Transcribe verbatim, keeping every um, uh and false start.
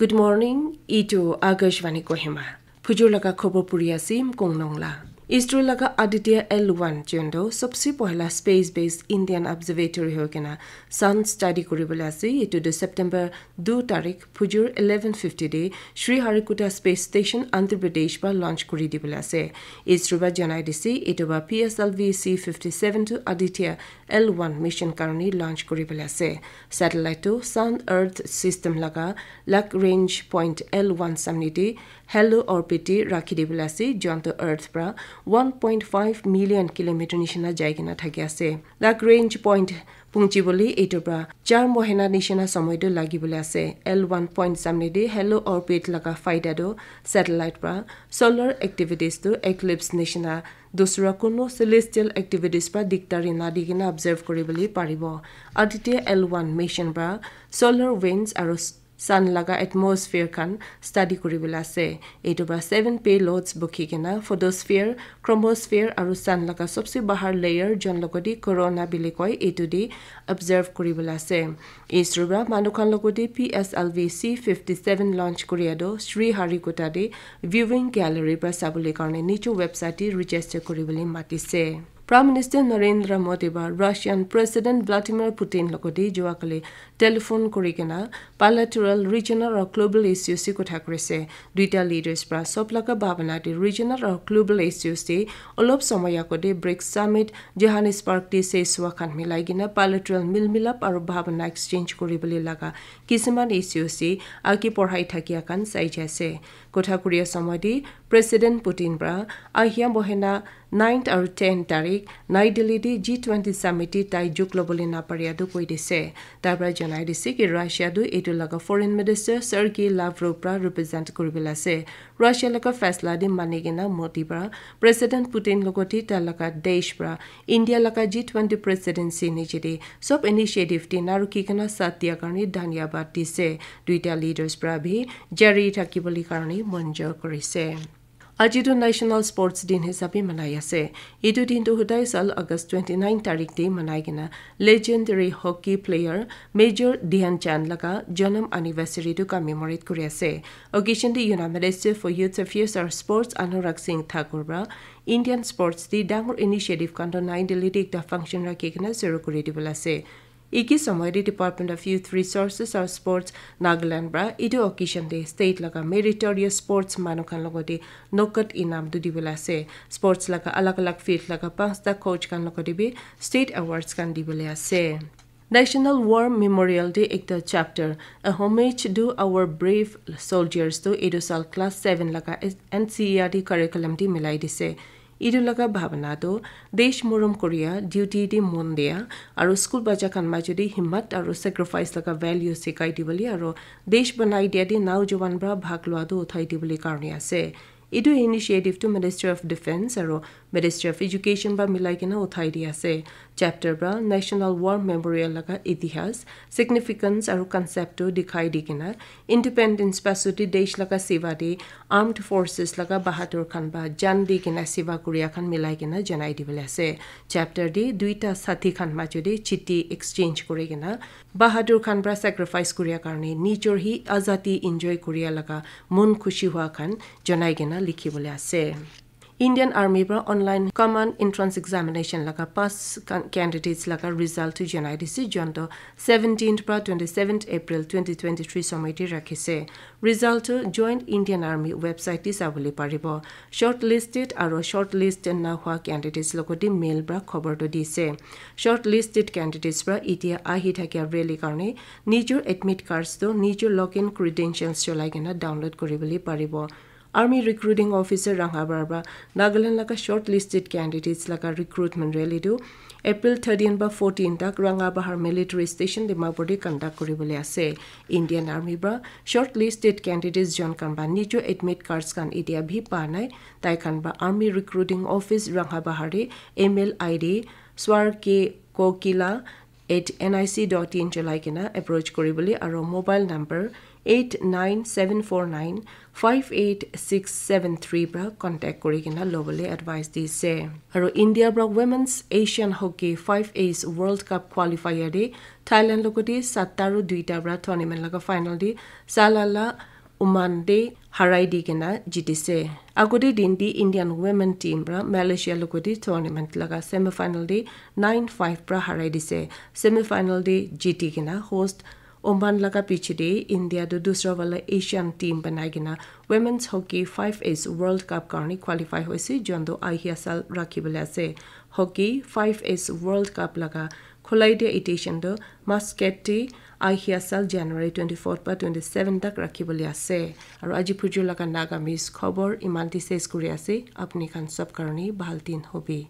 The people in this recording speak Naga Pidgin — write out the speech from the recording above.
Good morning, itu Akashvani Kohima. Phujur laga khobor puri ase, Mkong Nongla. ISRO laga Aditya L one jondo sobse pohla space-based Indian observatory hoi kena sun study kuribole ase. Itu tu September two tarik phujur eleven fifty de Sriharikota Space Station, Andhra Pradesh para launch kuri dibole ase. ISRO para janai dise, itu para P S L V C fifty seven to Aditya L one mission karone launch kuribole ase. Satellite tu Sun Earth System laga Lagrange Point L one samne de halo orbit de rakhi dibole ase, joan tu Earth para one point five million kilometer nishina jai kena thaki ase. Lagrange Point punchibole itu para char mohina nishina somoy tu lagibole ase. L one point samne de halo orbit laga faida tu satellite para solar activities tu eclipse nishina dusra kuno celestial activities para dikdari nadi kena observe kuribole paribo. Aditya L one mission para solar winds aru sun laga atmosphere khan study kuribole ase. Itu para seven payloads bukhi kena photosphere, chromosphere aru sun laga sobse bahar layer, jon logodi corona bili koi, itu de observe kuribole ase. ISRO para manu khan logodi P S L V C fifty seven launch kuria do Sriharikota de viewing gallery para sabole karone niche website de register kuribole matise. Prime Minister Narendra Modi ba Russian President Vladimir Putin logodi juakali telephone kuri kena bilateral, regional aru global issues te kotha kurise. Duita leaders para sob laga bhabana te regional aru global issues te olop somoy agode BRICS Summit Johannesburg te ses hua khan milai kena bilateral milmilap aru bhabana exchange kuribole laga kisiman issues te age porhai thakia khan sai jai ase. Kotha kuria somoy te President Putin para ahia mohina ninth aru ten tarik Nai Delhi te G twenty summit te tai jug lobole naparia tu koi dise. Tai para janai dise ki Russia tu itu laga foreign minister Sergei Lavrov para represent kuribole ase. Russia laga faisla de mani kena Modi para President Putin logoti ta laga desh para India laga G twenty presidency niche de sob initiative de naruki kena saath dia karone dhanyabad dise. Duita leaders para bhi jari thakibole karone monjor kurise. Aji tu National Sports Din hisabe manai ase. Itu din tu hudai sal August twenty nine tarik de manai kena legendary hockey player Major Dhyan Chand laga janam anniversary tu commemorate kuri ase. Occasion de Union Minister for Youth Affairs and Sports Anurag Singh Thakur para Indian sports de dangor initiative khan tu Nai Delhi de ekta function rakhi kena shuru kuri dibole ase. Iki somoy de Department of Youth Resources and Sports Nagaland para itu occasion de state laga meritorious sports manu khan logoti nokat inam tu dibole ase. Sports laga alag alag field laga panchta coach khan logoti bi state awards khan dibole ase. National War Memorial de ekta chapter, A Homage to Our Brave Soldiers, tu itu sal class seven laga N C E R T curriculum de milai dise. Itu laga bhabana tu desh morom kuria, duty de mon dia, aru school bacha khan majo de himmat aru sacrifice laga value sikai dibole aru desh banai dia de naujowan para bhag lua tu uthai dibole karone ase. Itu initiative tu Ministry of Defence aru Ministry of Education para milai kena uthai di ase. Chapter para National War Memorial laga itihas, significance aru concept tu dikhai di kena independence pasut de desh laga seva de armed forces laga bahadur khan ba jan di kena seva kuria khan milai kena janai dibole ase. Chapter de duita sathi khan majo de chithi exchange kuri kena bahadur khan para sacrifice kuria karone nijor hi azadi enjoy kuria laga mon khushi hua khan janai kena likhibole ase. Indian Army para online command entrance examination laga pass can- candidates laga result tu janai dise, jon to seventeenth para twenty seventh April twenty twenty three somoy te rakhise. Result tu Joint Indian Army website te sabole paribo. Shortlisted aru shortlist na hua candidates logoti mail para khobor tu dise. Shortlisted candidates para itia ahi thakia rally karone nijor admit cards tu nijor login credentials cholai kena download kuribole paribo. Army Recruiting Officer Ranghabahar para Nagaland laga shortlisted candidates laga recruitment rally tu April thirteen ba fourteen tak Ranghabahar Military Station Dimapur te conduct kuribole ase. Indian Army para shortlisted candidates jon khan ba nijor admit cards khan itia bhi pa nai. Tai khan ba Army Recruiting Office Ranghabahar te email I D Swar K Kokila at N I C dot in cholai kena approach kuribole aru mobile number eight nine seven four nine five eight six seven three para contact kuri kena lobole advice dise. Aru India para Women's Asian Hockey five A's World Cup qualifier de Thailand logoti satta aru duita para tournament laga final de Salalah Oman te harai di kena jitise. Agode din te Indian women team pra Malaysia logodi tournament laga semi final te nine five pra harai dise. Semi final te jiti kena host Oman laga piche te India tu dusra wala Asian team banai kena Women's Hockey five S World Cup karni qualify hoise, jonto ahia sal rakhi bole ase. Hockey five S World Cup laga khulai dia edition tu Muscat te ahia sal January twenty fourth pa twenty seven tak rakhi bole ase. Aru aji phuju laga Naga Miss khobor iman te ses kuri ase. Apni khan sab karni bhal din hobi.